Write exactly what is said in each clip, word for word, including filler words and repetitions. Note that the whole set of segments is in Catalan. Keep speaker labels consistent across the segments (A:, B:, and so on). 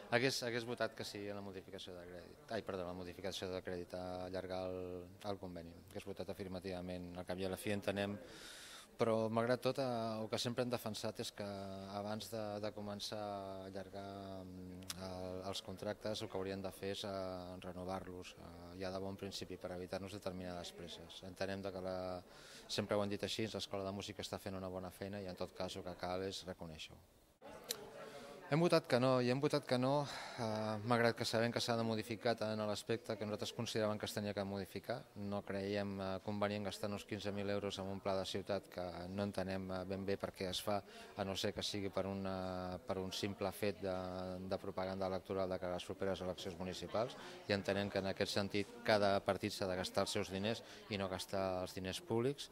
A: Hagués, hagués votat que sí a la modificació de crèdit. Ai, perdó, la modificació de crèdit a allargar el, el conveni. Hagués votat afirmativament. Al cap i a la fi entenem, però malgrat tot eh, el que sempre hem defensat és que abans de, de començar a allargar eh, els contractes el que haurien de fer és eh, renovar-los eh, ja de bon principi per evitar-nos determinades presses. Entenem que la, sempre ho han dit així, l'Escola de Música està fent una bona feina i en tot cas el que cal és reconèixer-ho. Hem votat que no, i hem votat que no, eh, malgrat que sabem que s'ha de modificar tant en l'aspecte que nosaltres consideràvem que es tenia que modificar. No creiem eh, convenient gastar uns quinze mil euros en un pla de ciutat que no entenem eh, ben bé per què es fa, a no ser que sigui per, una, per un simple fet de, de propaganda electoral de cara a les properes eleccions municipals, i entenem que en aquest sentit cada partit s'ha de gastar els seus diners i no gastar els diners públics.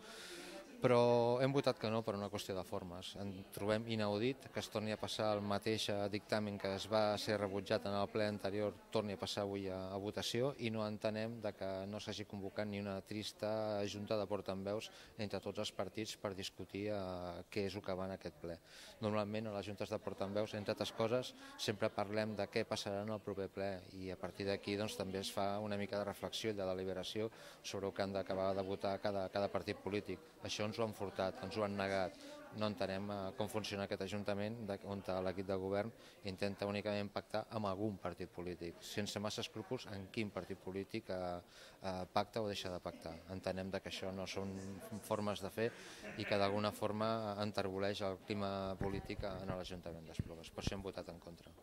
A: Però hem votat que no per una qüestió de formes. En trobem inaudit que es torni a passar el mateix dictamen que es va ser rebutjat en el ple anterior, torni a passar avui a, a votació, i no entenem de que no s'hagi convocat ni una trista junta de portaveus entre tots els partits per discutir eh, què és el que va en aquest ple. Normalment a les juntes de portaveus, entre altres coses, sempre parlem de què passarà en el proper ple, i a partir d'aquí doncs, també es fa una mica de reflexió i de deliberació sobre el que han d'acabar de votar cada, cada partit polític. Això ens ho han furtat, ens ho han negat. No entenem eh, com funciona aquest Ajuntament on l'equip de govern intenta únicament pactar amb algun partit polític, sense massa escrúpols en quin partit polític eh, eh, pacta o deixa de pactar. Entenem que això no són formes de fer i que d'alguna forma enterboleix el clima polític en l'Ajuntament d'Esplugues. Per això hem votat en contra.